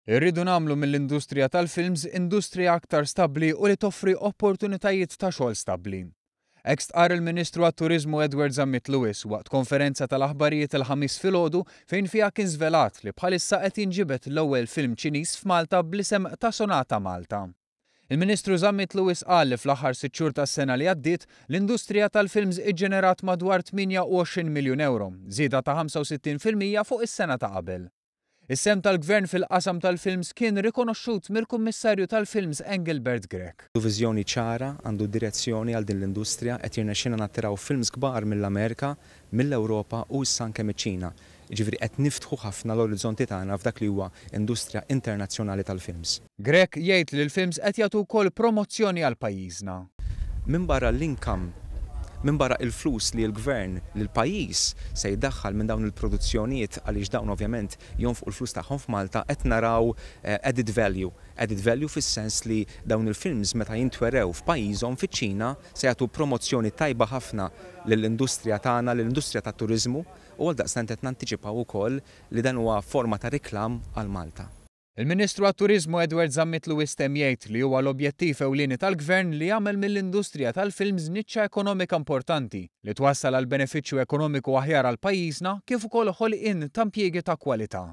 Irridu nagħmlu mill-industrija tal-films industrija aktar stabbli u li toffri opportunitajiet ta' xogħol stabbli. Hekk stqarr il-Ministru għat-Turiżmu Edward Zammit Lewis waqt konferenza tal-aħbarijiet il-Ħamis filgħodu fejn fiha kien żvelat li bħalissa qed jinġibed l-ewwel film Ċiniż f'Malta bl-isem ta' Sonata Malta. Il-Ministru Zammit Lewis qal li fl-aħħar sitt xhur tas-sena li għaddiet, l-industrija tal-films iġġenerat madwar 28 miljun ewro, żieda ta' 65% fuq is-sena ta' qabel. Is-sehem tal-Gvern fil-qasam tal-films kien rikonoxxut mill-Kummissarju tal-Films Engelbert Grech. Għandu viżjoni ċara, għandu direzzjoni għal din l-industrija, qed jirnexxilna nattiraw films kbar mill-Amerika, mill-Ewropa u issa anke miċ-Ċina. Jiġifieri qed niftħu ħafna l-orizzonti tagħna f'dak li huwa industrija internazzjonali tal-films. Grech jgħid li l-films qed jagħtu wkoll promozzjoni għal pajjiżna. Minbarra l-income, minbarra il-flus li l-Gvern, li l-pajjiż se jdaħħal minn dawn il-produzzjonijiet għaliex dawn ovvjament jonfqu l-flus tagħhom f'Malta, qed naraw added value. Added value fis-sens li dawn il-films meta jintwerew f'pajjiżhom, fiċ-Ċina, se jagħtu promozzjoni tajba ħafna lill-industrija tagħna, lill-industrija tat-turiżmu u għaldaqstant qed nantiċipaw ukoll li dan huwa forma ta' reklam għal Malta. Il-Ministru għat-Turiżmu Edward Zammit Lewis temm jgħid li huwa l-objettiv ewlieni tal-Gvern li jagħmel mill-industrija tal-films niċċa ekonomika importanti li twassal għal benefiċċju ekonomiku aħjar għal pajjiżna kif ukoll ħolqien ta' impjiegi ta' kwalità.